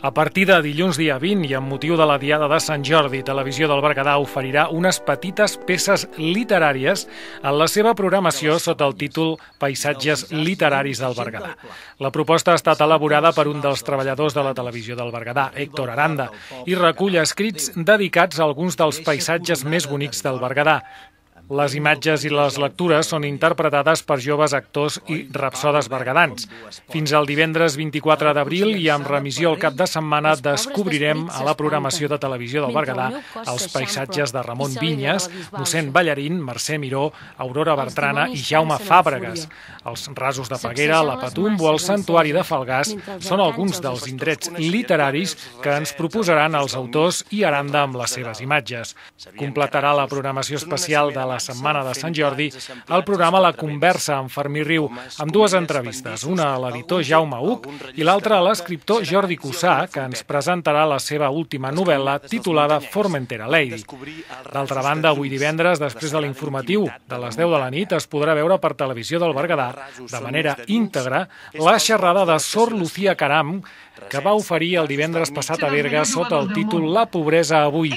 A partir de dilluns dia 20 i amb motiu de la Diada de Sant Jordi, Televisió del Berguedà oferirà unes petites peces literàries en la seva programació sota el títol Paisatges literaris del Berguedà. La proposta ha estat elaborada per un dels treballadors de la Televisió del Berguedà, Héctor Aranda, i recull escrits dedicats a alguns dels paisatges més bonics del Berguedà. Les imatges i les lectures són interpretades per joves actors i rapsodes berguedans. Fins al divendres 24 d'abril i amb remissió al cap de setmana descobrirem a la programació de Televisió del Berguedà els paisatges de Ramon Vinyes, Mossèn Ballarín, Mercè Miró, Aurora Bertrana i Jaume Fàbregas. Els rasos de Peguera, la Patumbo o el Santuari de Falgars són alguns dels indrets literaris que ens proposaran els autors i Aranda amb les seves imatges. Completarà la programació especial de la Setmana de Sant Jordi el programa La Conversa amb Fermí Riu, amb dues entrevistes, una a l'editor Jaume Huc i l'altra a l'escriptor Jordi Cussà, que ens presentarà la seva última novel·la titulada Formentera Lady. D'altra banda, avui divendres, després de l'informatiu de les 10 de la nit, es podrà veure per Televisió del Berguedà, de manera íntegra, la xerrada de Sor Lucía Caram, que va oferir el divendres passat a Berga sota el títol La pobresa avui.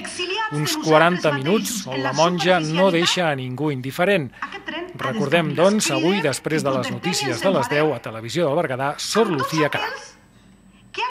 Uns 40 minuts on la monja no deixa a ningú indiferent. Recordem, doncs, avui, després de les notícies de les 10 a Televisió del Berguedà, Sor Lucía Caram.